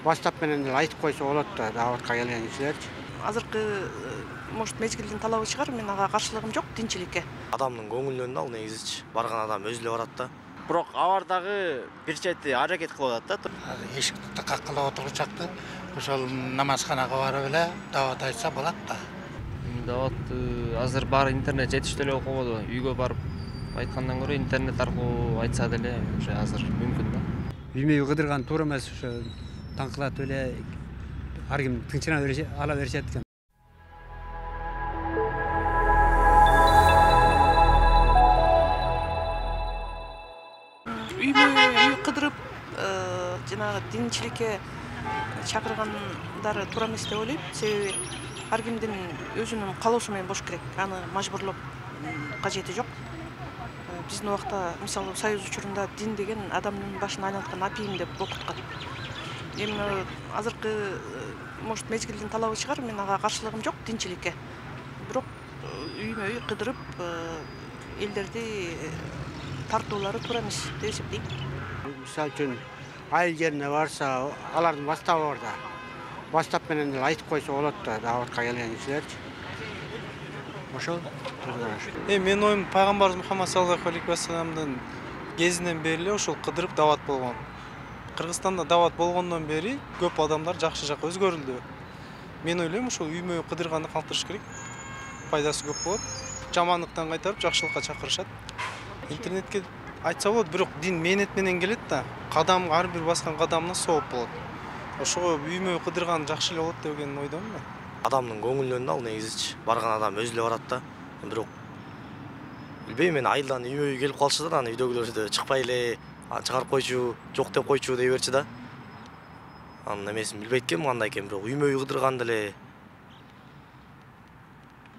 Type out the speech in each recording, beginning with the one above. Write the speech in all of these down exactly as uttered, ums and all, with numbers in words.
баштап менен эле айтып койсо болот да дааватка келген кишилерчи. Азыркы может мезгилдин талабы чыгар, мен ага каршылыгым жок тинчиликке. Адамдын көңүлүнөн ал негизичи. Барган адам өзү эле барат да. Бирок алар дагы бир чети аракет кылып атат да. Эшикти каккылап отуручакты ошол намазканага барып эле даават айтса болот да. Дааватты азыр баары интернет жетиштүү эле окубоду. Үйгө барып айткандан көрө интернет аркылуу айтса деле уже азыр мүмкүн да. Үймөй кыдырган туура эмес, ошо таңкылатып эле ар ким тынчына ала беришет экен. Үймөй үй кыдырып жанагы динчиликке чакыргандары туура эмес деп ойлойм. Себеби ар кимдин өзүнүн каалоосу менен болуш керек. Аны мажбурлоп кажети жок. Биздин убакта мисалы союз учурунда дин деген адамдын башын айланткан апийим деп окуткан. Эми азыркы может мезгилдин талабы чыгар, мен ага каршылыгым жок динчиликке. Бирок үймөй кыдырып элдерди тартуулары туура эмес деп эсептейм. Мисалы үчүн айыл жерине барса, алардын баштабы бар да. Баштап менен эле айтып койсо болот да дааватка келген кишилерчи. Ошол. Э менин оюм пайгамбарыбыз Мухаммад саллаллаху алейхи вассаламдын кезинен бери эле ошол кыдырып дават болгон. Кыргызстанда дават болгондон бери көп адамдар жакшы жакка өзгөрүлдү. Мен ойлойм ошол үймөй кыдырганды калтырыш керек. Пайдасы көп болот. Жамандыктан кайтарып жакшылыкка чакырышат. Интернетке айтса болот, бирок дин мээнет менен келет да. Кадам ар бир баскан кадамына сооп болот. Ошого үймөй кыдырган жакшы эле болот деген ойдомун мен. Адамдын көңүлүнөн ал негизичи. Барган адам өзү эле барат да. Бирок билбейм, мен айылдан үймөй келип калчу да, аны үйдөгүлөр да чыкпай эле чыгарып койчу, жок деп койчу дей берчи да. Анын эмесин билбейт экенмин кандай экен, бирок үймөй кыдырганды эле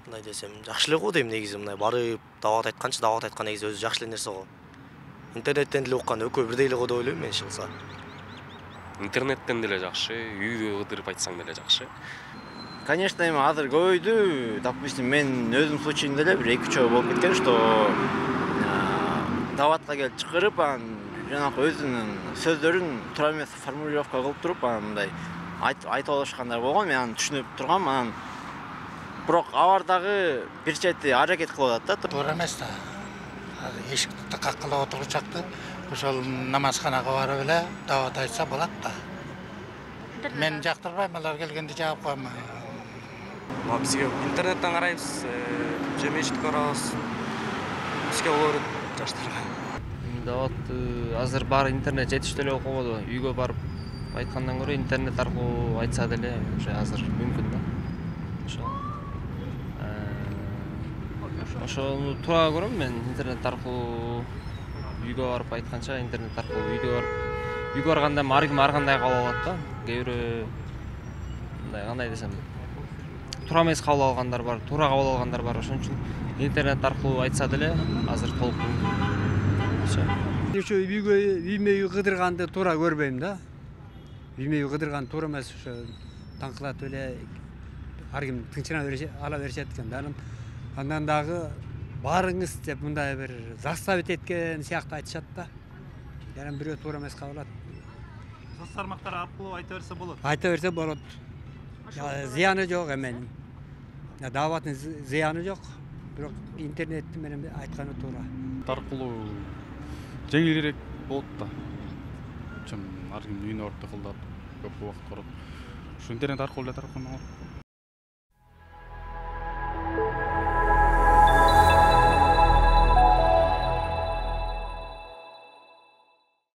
мындай десем жакшы эле го дейм негизи. Мындай барып дават айтканчы, дават айткан негизи өзү жакшы эле нерсе го. Интернеттен деле уккан экөө бирдей эле го деп ойлойм мен чыкса. Интернеттен деле жакшы, үйдө кыдырып айтсаң деле жакшы. Конечно, эми азыр көбөйдү. Допустим, мен өзүм случайымда эле бир эки үч жолу болуп кеткен, что даватка келип чакырып, анан жанагы өзүнүн сөздөрүн туура эмес формулировка кылып туруп, анан мындай айтып алышкандар болгон. Мен аны түшүнүп тургам, анан бирок алар дагы бир чети аракет кылып атат да. Туура эмес да. Эшикти каккылап отуручакты ошол намазканага барып эле дават айтса болот да. Мен жактырбайм, алар келгенде жаап коем. Бизге интернеттен карайбыз, же мечитке барабыз. Бизге олор жаштарга. Даватты азыр баары интернет жетиштүү эле окубоду. Үйгө барып айткандан көрө интернет аркылуу айтса деле уже азыр мүмкүн да. Ошол. Ошону туура көрөм мен, интернет аркылуу үйгө барып айтканча интернет аркылуу үйгө барып үйгө барганда ар ким ар кандай кабыл алат да. Кээ бирөө мындай кандай десем туура эмес кабыл алгандар бар, туура кабыл алгандар бар. Ошон үчүн интернет аркылуу айтса деле азыр толук мүмкүн. Ошо үйгө үймөй кыдырганды туура көрбөйм да. Үймөй кыдырган туура эмес, ошо таңкылатып эле ар ким тынчына ала беришет экен да. Андан дагы барыңыз деп мындай бир заставить эткен сыяктуу айтышат да. Жаран бирөө туура эмес кабыл алат. Соц тармактар аркылуу айта берсе болот. Айта берсе болот. Зыяны жок эменин. Даваттын зыяны жок. Бирок интернет менен айтканы туура. Аркылуу жеңилирээк болот да. Чын ар ким үйүнө барып тыкылдап көп убакыт барат. Ушу интернет аркылуу эле таркалмак.